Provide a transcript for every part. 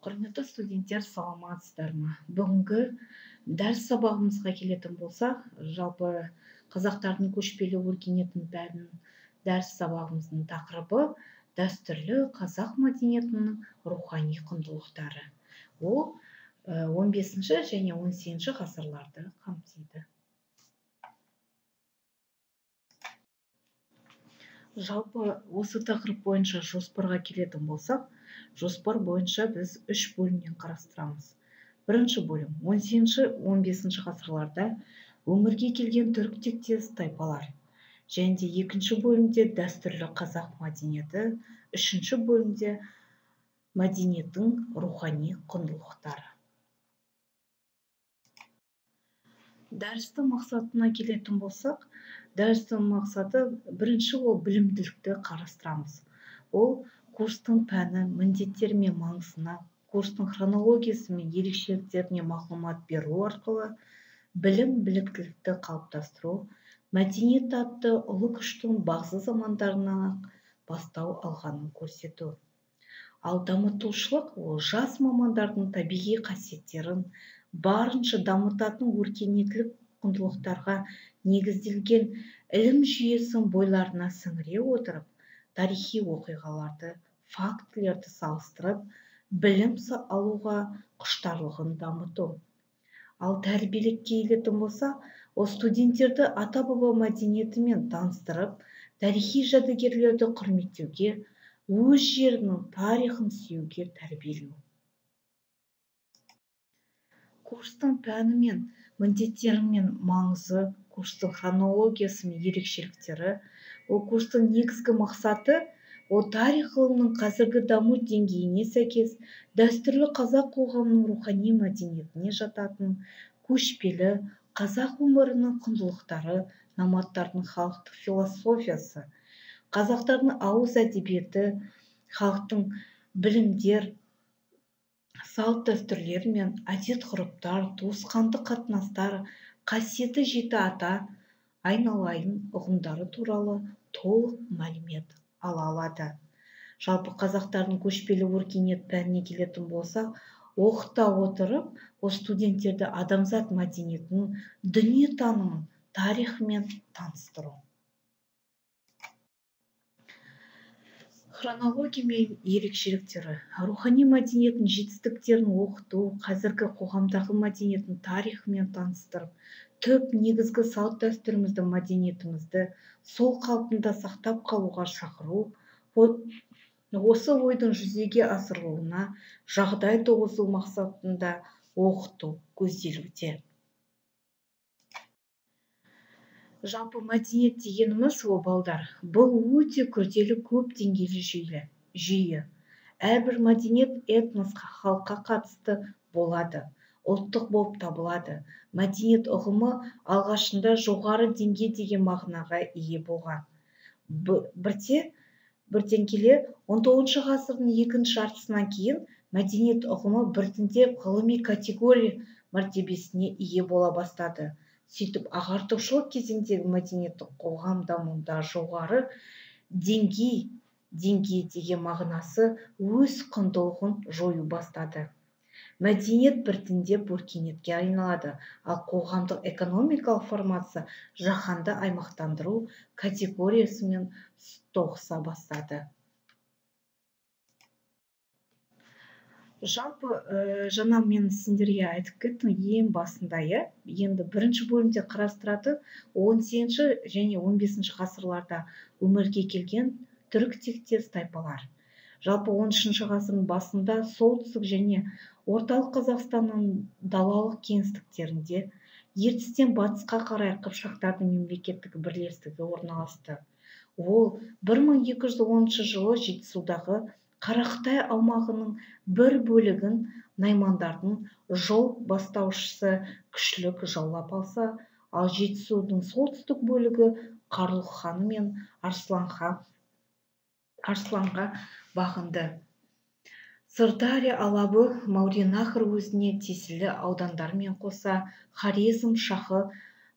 Құрметті студенттер, саламатсыздар ма? Бүгінгі дәріс сабағымызға келетін болсақ, жалпы қазақтардың көшпелі өркениетінің пәнінің дәріс сабағымыздың тақырыбы дәстүрлі қазақ мәдениетінің рухани құндылықтары. Ол 15-ші және 18-ші ғасырларды қамтиды. Жалпы осы тақырып бойынша жоспарға келетін болсақ, жоспар бойынша біз 3 бөлімнен қарастырамыз. Бірінші бөлім 18-15 ғасырларда өмірге келген түрік тектес тайпалар. Және де екінші бөлімде дәстүрлі қазақ мәдениеті, үшінші бөлімде мәдениеттің рухани құндылықтары. Дәрістің мақсатына келетін болсақ, дәрістің мақсаты бірінші ол білімділікті қарастырамыз. Ол курстың пәні, міндеттері мен маңызына, курстың хронологиясы мен ерекшеліктеріне мағлұмат беру арқылы білім біліктілікті қалыптастыру, мәдениет атты ұлы күштің бағзы замандарынан бастау алғанын көрсету. Ал дамытушылық ол жас мамандардың табиғи қасиеттерін барынша дамытатын өркениеттілік құндылықтарға негізделген ілім жүйесін бойларына сіңіре отырып, тарихи оқиғаларды, фактілерді салыстырып, білім алуға құштарлығын дамыту. Ал тәрбиелікке келетін болса, ол студенттерді ата-баба мәдениетімен таныстырып, тарихи жәдігерлерді құрметтеуге, өз жерінің тарихын сүюге тәрбиелеу. Курстың пәні мен міндеттері мен маңызы, курстың хронологиясы мен ерекшеліктері, ол курстың негізгі мақсаты, ол тарих ғылымының қазіргі даму деңгейіне сәйкес дәстүрлі қазақ қоғамының рухани мәдениетіне жататын көшпелі қазақ өмірінің құндылықтары, номадтардың халықтық философиясы, қазақтардың ауыз әдебиеті, халықтың білімдер, салт дәстүрлер мен әдет-ғұрыптар, туысқандық қатынастар, қасиетті жеті ата, айналайын ұғымдары туралы толық мәлімет ала алады. Жалпы қазақтардың көшпелі өркениет пәніне келетін болса, оқыта отырып, ол студенттерді адамзат мәдениетінің дүниетанымын, тарихымен таныстыру. Хронология мен ерекшеліктері. Рухани мәдениеттің жетістіктерін оқыту, қазіргі қоғамдағы мәдениеттің тарихымен таныстырып, түп негізгі салт дәстүрімізді, мәдениетімізді сол қалпында сақтап қалуға шақыру, осы ойдың жүзеге асырылуына жағдай туғызу мақсатында оқыту көзделуде. Жалпы мәдениет дегеніміз ол балдар. Бұл өте күрделі көп деңгейлі жүйе. Әрбір мәдениет этносқа, халыққа қатысты болады, ұлттық болып табылады. Мәдениет ұғымы алғашында жоғары деңгей деген мағынаға ие болған. Бірден келе 19 ғасырдың екінші жартысынан кейін мәдениет ұғымы біртіндеп ғылыми категория мәртебесіне ие бола бастады. Сөйтіп, ағартушылық кезеңдегі мәдениеттік қоғам дамуында жоғары деңгей деген мағынасы өз құндылығын жою бастады. Мәдениет біртіндеп өркениетке айналады, ал қоғамдық экономикалық формация жаһанды аймақтандыру категориясымен тоғыса бастады. Жалпы, жаңа мен сендерге айтып кеттім ең басында, енді бірінші бөлімде қарастыратын 18-ші және 15-ші ғасырларда өмірге келген түрік тектес тайпалар. Жалпы 13-ші ғасырдың басында солтүстік және орталық Қазақстанның далалық кеңістіктерінде ертістен батысқа қарай қыпшақтардың мемлекеттік бірлестігі орналасты. Ол 1210 жылы Жетісудағы Қарақытай аумағының бір бөлігін наймандардың жол бастаушысы күшлік жаулап алса, ал Жетісудың солтүстік бөлігі Қарлұқ ханы мен Арсланға бағынды. Сырдария алабы Мауреннахр уезіне тиесілі аудандармен қоса Хорезм шахы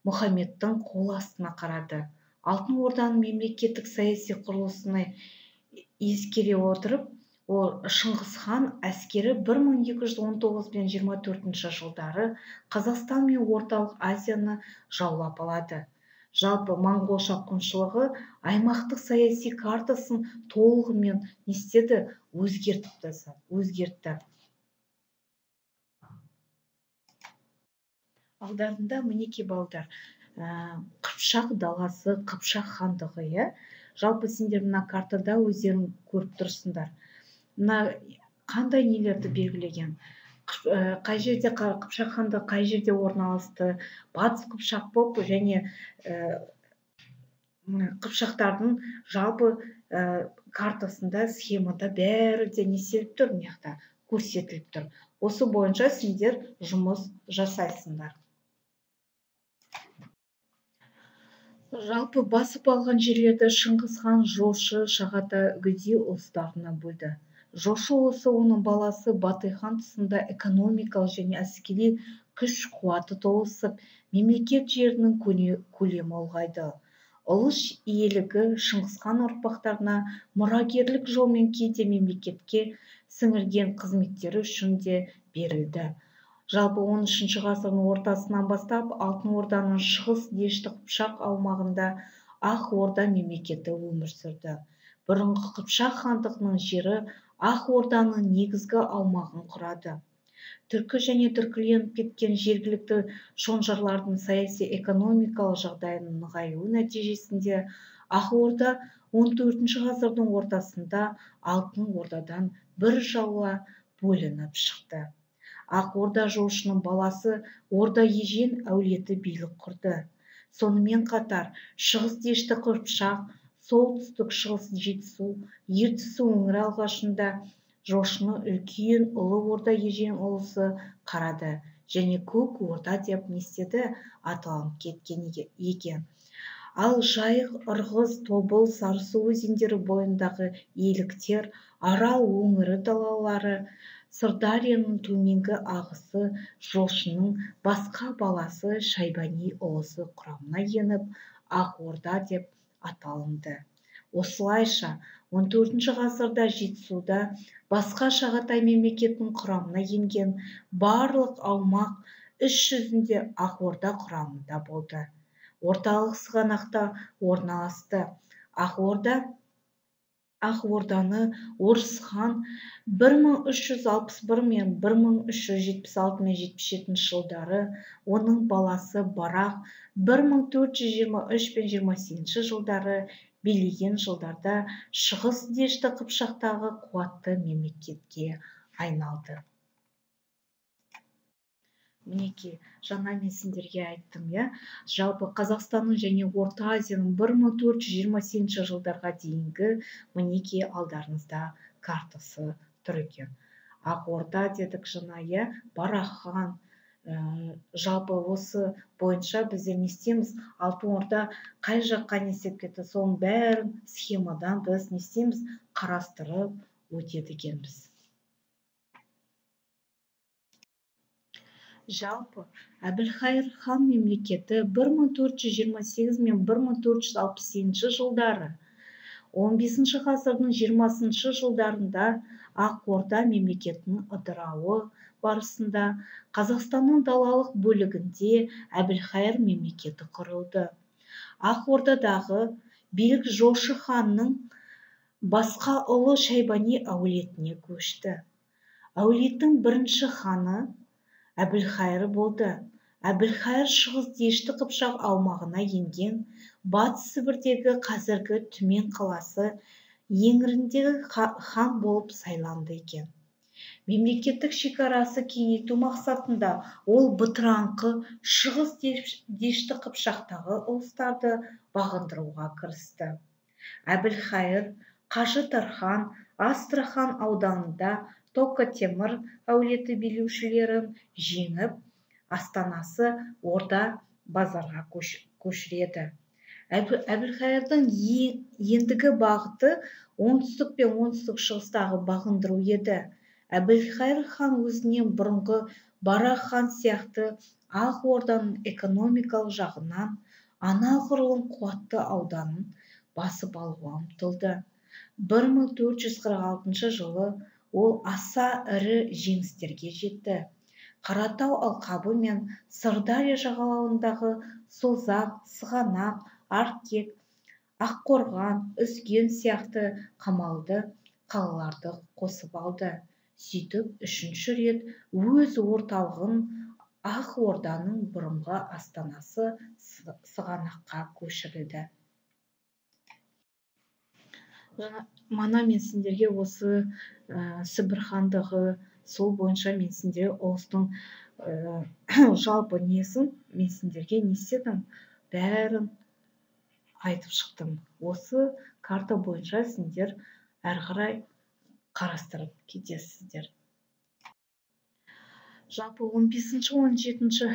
Мұхаммедтің қол астына қарады. Алтын Орданың мемлекеттік саяси құрылысына ескере отырып, Шыңғыс хан әскері 1219 пен 24 жылдары Қазақстан мен Орталық Азияны жаулап алады. Жалпы моңғол шапқыншылығы аймақтық саяси картасын толығымен не істеді? Өзгертті. Алдарында мінеки балдар, Қыпшақ даласы, Қыпшақ хандығы, иә. Жалпы сендер мына картада өздерің көріп тұрсыңдар. Мына қандай нелерді белгілеген? Қай жерде Қыпшақ хандығы қай жерде орналасты? Батыс Қыпшақ болып және Қыпшақтардың жалпы картасында, схемада бәрі де не істеліп тұр, мына жақта көрсетіліп тұр. Осы бойынша сендер жұмыс жасайсыңдар. Жалпы басып алған жерлерді Шыңғыс хан Жошы, Шағатай, Үгедей ұлыстарына бөлді. Жошы ұлысы, оның баласы Батый хан тұсында экономикалық және әскери күш-қуаты толысып, мемлекет жерінің көлемі ұлғайды. Ұлыс иелігі Шыңғыс хан ұрпақтарына мұрагерлік жолмен кейде мемлекетке сіңірген қызметтері үшін де берілді. Жалпы 13 ғасырдың ортасынан бастап Алтын Орданың шығыс дешті Қыпшақ аумағында Ақ Орда мемлекеті өмір сүрді. Бұрынғы Қыпшақ хандығының жері Ақ Орданың негізгі аумағын құрады. Түркі және түркіленіп кеткен жергілікті шонжарлардың саяси экономикалық жағдайының нығаюы нәтижесінде Ақ Орда 14 ғасырдың ортасында Алтын Ордадан біржола бөлініп шықты. Ақ Орда жошының баласы Орда Ежен әулеті билік құрды. Сонымен қатар шығыс дешті Қыпшақ, солтүстік шығыс Жетісу, Ертіс өңірі алғашында жошыны үлкен ұлы Орда Ежен ұлысы қарады және Көк Орда деп не істеді? Аталып кеткен екен. Ал Жайық, Ырғыз, Тобыл, Сарысу өзендері бойындағы иеліктер, Арал өңірі далалары, Сырдарияның төменгі ағысы жошының басқа баласы Шайбани ұлысы құрамына еніп, Ақ Орда деп аталынды. Осылайша 14 ғасырда Жетісуда басқа Шағатай мемлекетінің құрамына енген барлық аумақ іс жүзінде Ақ Орда құрамында болды. Орталық сығанақта орналасты. Ақ Орданы Орыс хан 1361 мен 1376 мен 77 жылдары, оның баласы Барақ 1423 пен 28 жылдары билеген жылдарда шығыс дешті Қыпшақтағы қуатты мемлекетке айналды. Мінеки, жаңа мен сендерге айттым, иә. Жалпы Қазақстанның және Орта Азияның 1428 жылдарға дейінгі мінеки алдарыңызда картасы тұр екен. Ақ Орда дедік жаңа, иә, Барақ хан. Жалпы осы бойынша біздер не істейміз? Алтын Орда қай жаққа не істеп кетті? Соның бәрін схемадан біз не істейміз? Қарастырып өтеді екенбіз. Жалпы Әбілхайыр хан мемлекеті 1428 мен 1468 жылдары, 15 ғасырдың 20 жылдарында Ақ Орда мемлекетінің ыдырауы барысында Қазақстанның далалық бөлігінде Әбілхайыр мемлекеті құрылды. Ақ Ордадағы билік Жошы ханның басқа ұлы Шайбани әулетіне көшті. Әулеттің бірінші ханы Әбілхайыр болды. Әбілхайыр шығыс дешті Қыпшақ аумағына енген, Батыс Сібірдегі қазіргі Түмен қаласы еңіріндегі хан болып сайланды екен. Мемлекеттік шекарасы кеңейту мақсатында ол бытыраңқы шығыс дешті Қыпшақтағы ұлыстарды бағындыруға кірісті. Әбілхайыр Қажы Тархан Астрахан ауданында Тоқа-Темір әулеті билеушілерін жеңіп, астанасы Орда базарға көшіреді. Әбілхайырдың ендігі бағыты оңтүстік пен оңтүстік шығыстағы бағындыру еді. Әбілхайыр хан өзінен бұрынғы Барақ хан сияқты Ақ Орданың экономикалық жағынан анағұрлым қуатты ауданын басып алуға ұмтылды. 1446 жылы ол аса ірі жеңістерге жетті. Қаратау алқабы мен Сырдария жағалауындағы Созақ, Сығанақ, Аркек, Аққорған, Үзген сияқты қамалды қалаларды қосып алды. Сөйтіп үшінші рет өз орталығын Ақ Орданың бұрынғы астанасы Сығанаққа көшірілді. Мана мен сендерге осы Сібір хандығы, сол бойынша мен сендерге ұлыстың жалпы несін мен сендерге не істедім, бәрін айтып шықтым. Осы карта бойынша сендер әрі қарай қарастырып кетесіздер. Жалпы 15-17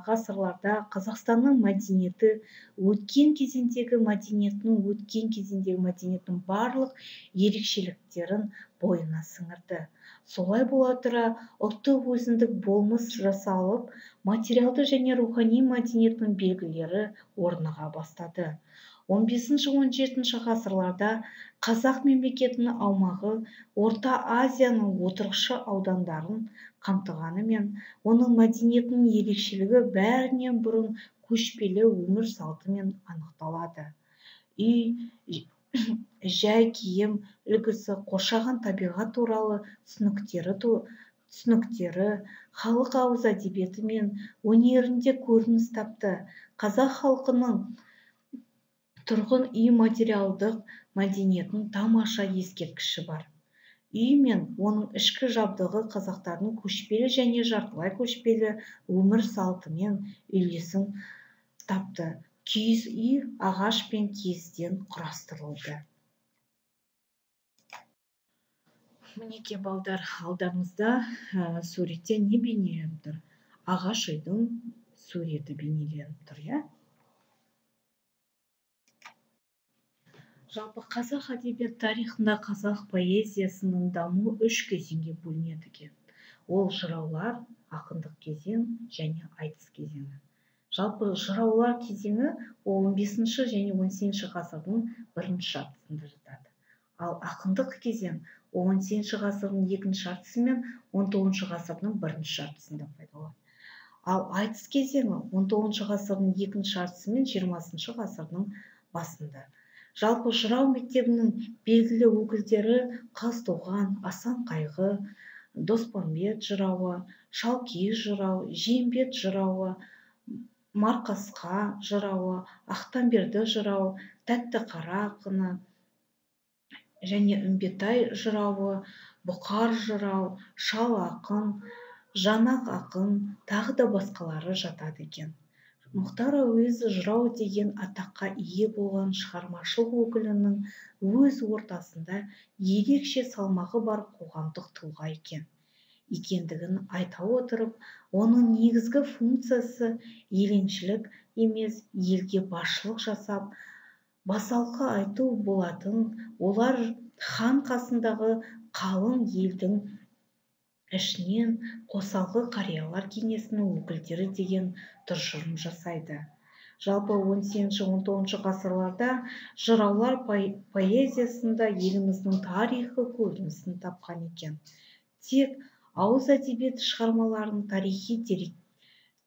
ғасырларда Қазақстанның мәдениеті өткен кезеңдегі мәдениеттің барлық ерекшеліктерін бойына сіңірді. Солай бола тұра ұлттық өзіндік болмыс жасалып, материалды және рухани мәдениеттің белгілері орныға бастады. 15-17 ғасырларда қазақ мемлекетінің аумағы Орта Азияның отырықшы аудандарын қамтығанымен, оның мәдениетінің ерекшелігі бәрінен бұрын көшпелі өмір салтымен анықталады. Үй, жай киім үлгісі, қоршаған табиғат туралы түсініктері халық ауыз әдебиеті мен өнерінде көрініс тапты. Қазақ халқының тұрғын үй материалдық мәдениетінің тамаша ескерткіші бар. Үй мен оның ішкі жабдығы қазақтардың көшпелі және жартылай көшпелі өмір салтымен үйлесім тапты. Киіз үй ағаш пен киізден құрастырылды. Мінеке балдар, алдарыңызда суретте не бейнеленіп тұр? Ағаш үйдің суреті бейнеленіп тұр, иә? Жалпы қазақ әдебиет тарихында қазақ поэзиясының дамуы 3 кезеңге бөлінеді екен. Ол жыраулар, ақындық кезең және айтыс кезеңі. Жалпы жыраулар кезеңі 15 және 18 ғасырдың бірінші жартысында жатады. Ал ақындық кезең 18 ғасырдың екінші жартысы мен 19 ғасырдың бірінші жартысында пайда болады. Ал айтыс кезеңі 19 ғасырдың екінші жартысы мен 20 ғасырдың басында. Жалпы жырау мектебінің белгілі өкілдері Қазтуған, Асан Қайғы, Доспамбет жырауы, Шалкиіз жырау, Жиембет жырауы, Марқасқа жырауы, Ақтамберді жырау, Тәттіқара ақыны және Үмбетай жырауы, Бұқар жырау, Шал ақын, Жанақ ақын, тағы да басқалары жатады екен. Мұхтар Әуезов жырау деген атаққа ие болған шығармашылық өкілінің өз ортасында ерекше салмағы бар қоғамдық тұлға екендігін айта отырып, оның негізгі функциясы еленшілік емес, елге басшылық жасап, басалқы айту болатын. Олар хан қасындағы қалың елдің ішінен қосалқы қариялар кеңесінің өкілдері деген тұжырым жасайды. Жалпы 18-19 ғасырларда жыраулар поэзиясында еліміздің тарихы көрінісін тапқан екен. Тек ауыз әдебиеті шығармаларын тарихи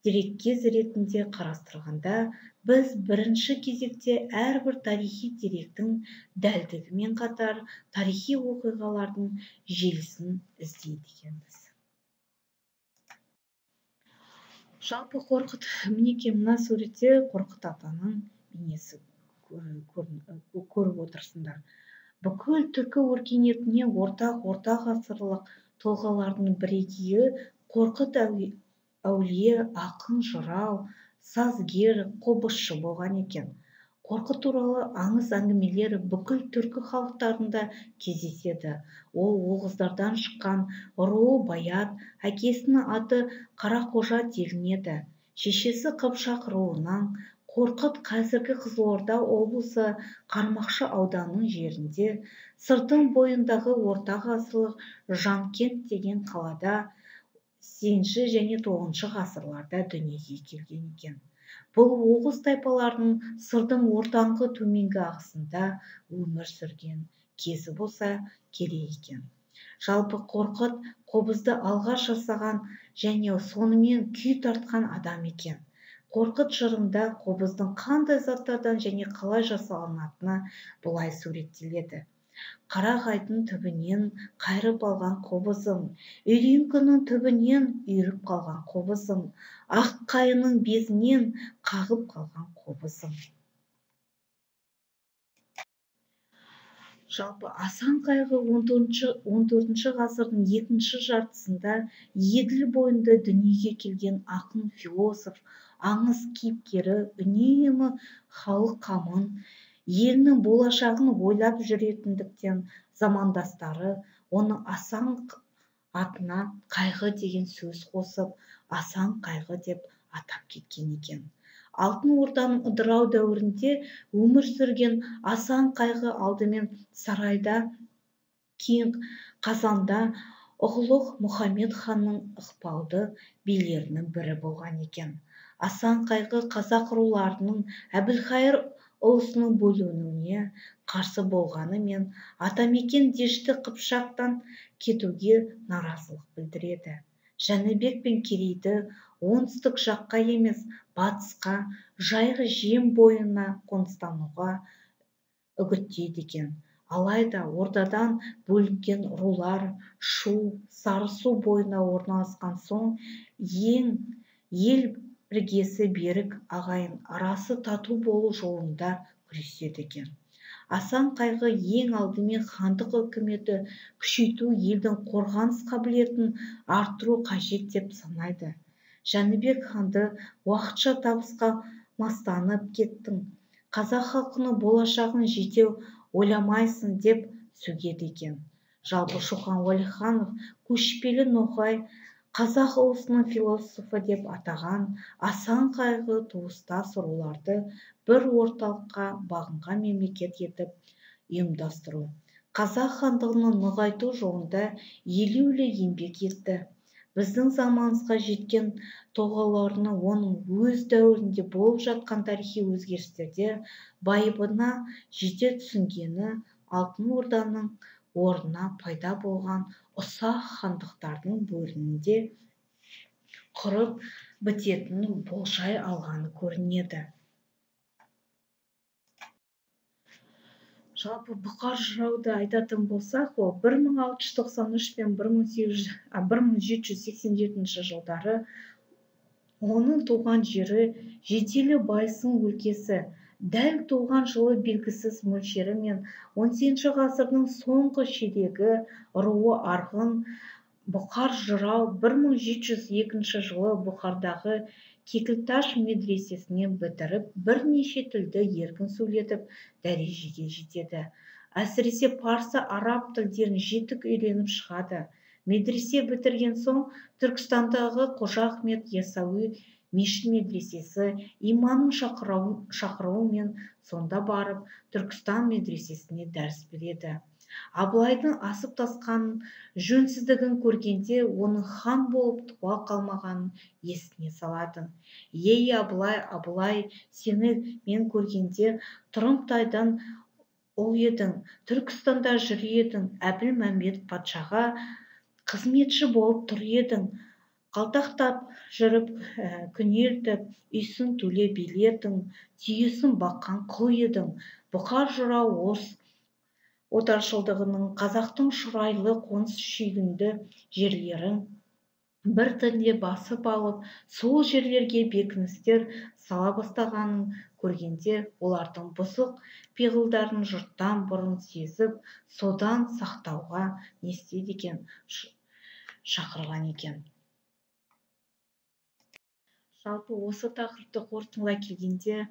дереккез ретінде қарастырғанда, біз бірінші кезекте әрбір тарихи деректің дәлдігімен қатар тарихи оқиғалардың желісін іздейді екенбіз. Жалпы Қорқыт, мінеке мына суретте Қорқыт атаның бейнесі көріп отырсыңдар. Бүкіл түркі өркениетіне орта ғасырлық тұлғалардың бірегейі Қорқыт әулие ақын, жырау, сазгер, қобызшы болған екен. Қорқыт туралы аңыз әңгімелер бүкіл түркі халықтарында кездеседі. Ол оғыздардан шыққан руы Баят, әкесінің аты Қарақожа делінеді. Шешесі Қыпшақ руынан. Қорқыт қазіргі Қызылорда облысы Қармақшы ауданының жерінде, Сырдың бойындағы орта ғасырлық Жанкент деген қалада 8 және 9 ғасырларда дүниеге келген екен. Бұл оғыз тайпаларының Сырдың ортаңғы төменгі ағысында өмір сүрген кезі болса керек екен. Жалпы Қорқыт қобызды алғаш жасаған және сонымен күй тартқан адам екен. Қорқыт жырында қобыздың қандай заттардан және қалай жасалынатыны былай суреттеледі. Қарағайдың түбінен қайырып алған қобызым, үйреңкінің түбінен үйіріп қалған қобызым, ақ қайының безінен қағып қалған қобызым. Жалпы Асан қайғы 14 ғасырдың екінші жартысында Еділ бойында дүниеге келген ақын, философ, аңыз кейіпкері, үнемі халық қамын, елінің болашағын ойлап жүретіндіктен замандастары оны Асан атына қайғы деген сөз қосып, Асан қайғы деп атап кеткен екен. Алтын Орданың ыдырау дәуірінде өмір сүрген Асан қайғы алдымен сарайда, кейін Қазанда ұғлық Мұхамед ханның ықпалды билерінің бірі болған екен. Асан қайғы қазақ руларының Әбілқайыр ұлысының бөлінуіне қарсы болғанымен Атамекен Дешті Қыпшақтан кетуге наразылық білдіреді. Жәнібек пен Керейді оңтүстік жаққа емес, батысқа, Жайық жем бойына қоныстануға үгіттейді екен. Алайда Ордадан бөлінген рулар Шу, Сарысу бойына орналасқан соң ел іргесі берік ағайын арасы тату болу жолында күреседі екен. Асан қайғы ең алдымен хандық үкіметі күшейту, елдің қорғаныс қабілетін арттыру қажет деп санайды. Жәнібек ханды уақытша табысқа мастанып кеттің, қазақ халқының болашағын жете ойламайсың деп сөгеді екен. Жалпы Шоқан Уәлиханов көшпелі ноғай қазақ ұлысының философы деп атаған Асан қайғы туыстас руларды бір орталыққа бағынған мемлекет етіп ұйымдастыру, қазақ хандығын нығайту жолында елеулі еңбек етті. Біздің заманымызға жеткен тұлғаларының оның өз дәуірінде болып жатқан тарихи өзгерістерде байыбына жете түсінгені Алтын Орданың орнына пайда болған ұсақ хандықтардың бөлінінде құрып бітетінін болжай алғаны көрінеді. Жалпы Бұқар жырауды айтатын болсақ, ол 1693 пен 1787 жылдары оның туған жері Жетелі Байсын өлкесі, дәл туған жылы белгісіз мөлшері мен 18 ғасырдың соңғы ширегі руы Арғын Бұқар жырау 1702 жылы Бұқардағы Кекілташ медресесінен бітіріп, бірнеше тілді еркін сөйлетіп, дәрежеге жетеді. Әсіресе парсы, араб тілдерін жетік үйреніп шығады. Медресе бітірген соң Түркістандағы Қожа Ахмет Яссауи мешіт медресесі имамның шақыруымен сонда барып Түркістан медресесіне дәріс береді. Абылайдың асып тасқанын, жөнсіздігін көргенде оның хан болып туа қалмағанын есіне салады. Ей Абылай, Абылай, сені мен көргенде Тұрымтайдан ұл едің, Түркістанда жүр едің, Әбілмәмбет патшаға қызметші болып тұр едің, қалтақтап жүріп күнелтіп, үйсін төле биледің, түйесін баққан құл едің. Бұқар жырау отаршылдығының қазақтың шұрайлы қоныс шүйгінді жерлерін бір тілде басып алып, сол жерлерге бекіністер сала бастағанын көргенде, олардың бұзық пиғылдарын жұрттан бұрын сезіп, содан сақтауға не істейді екен, шақырған екен. Жалпы осы тақырыпты қорытындылай келгенде,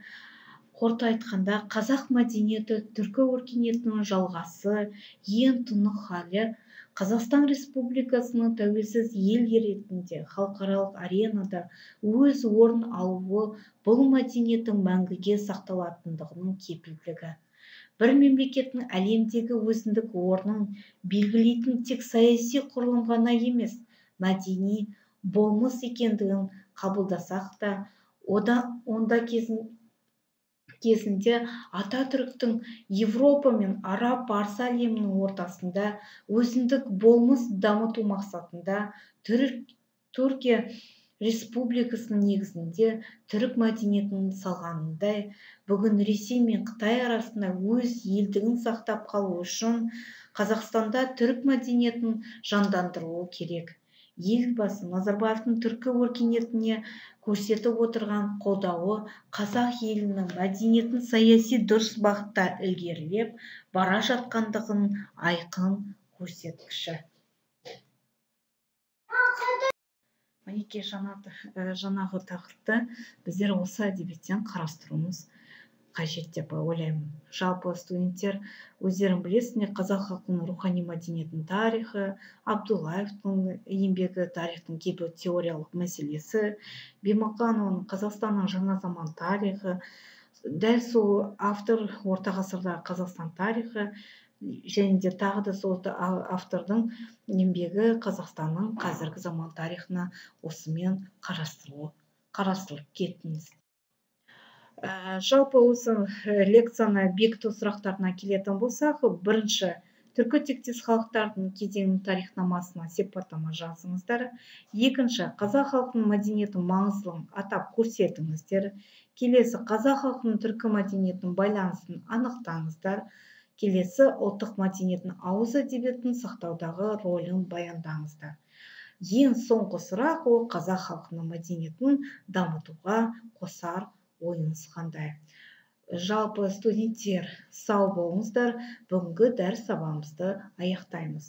қорыта айтқанда, қазақ мәдениеті түркі өркениетінің жалғасы, ең тұнық халі, Қазақстан Республикасының тәуелсіз ел ретінде халықаралық аренада өз орын алуы бұл мәдениеттің мәңгіге сақталатындығының кепілдігі. Бір мемлекеттің әлемдегі өзіндік орнын белгілейтін тек саяси құрылым ғана емес, мәдени болмыс екендігін қабылдасақ та, онда кезінде Ататүріктің Европа мен араб парсы әлемінің ортасында өзіндік болмыс дамыту мақсатында Түркия республикасының негізінде түрік мәдениетін салғанындай, бүгін Ресей мен Қытай арасында өз елдігін сақтап қалу үшін Қазақстанда түрік мәдениетін жандандыруы керек. Елбасы Назарбаевтың түркі өркениетіне көрсетіп отырған қолдауы қазақ елінің мәдениетін саяси дұрыс бағытта ілгерілеп бара жатқандығын айқын көрсеткіші. Мінекей жаңағы тақырыпты біздер осы әдебиеттен қарастыруымыз қажет деп ойлаймын. Жалпы студенттер өздерің білесіңдер, қазақ халқының рухани мәдениетінің тарихы, Абдуллаевтың еңбегі тарихтың кейбір теориялық мәселесі, Бимақанованың Қазақстанның жаңа заман тарихы, дәл сол автор орта ғасырдағы Қазақстан тарихы, және де тағы да сол автордың еңбегі Қазақстанның қазіргі заман тарихына осымен қарастырылып кеттіңіз. Жалпы осы лекцияны бекіту сұрақтарына келетін болсақ, бірінші, түркі тектес халықтардың кезеңінің тарихнамасына сипаттама жазыңыздар. Екінші, қазақ халқының мәдениетінің маңыздылығын атап көрсетіңіздер. Келесі, қазақ халқының түркі мәдениетінің байланысын анықтаңыздар. Келесі, ұлттық мәдениеттің ауыз әдебиетін сақтаудағы рөлін баяндаңыздар. Ең соңғы сұрақ, ол қазақ халқының мәдениетін дамытуға қосар ойыңыз қандай? Жалпы студенттер, сау болыңыздар. Бүгінгі дәріс сабағымызды аяқтаймыз.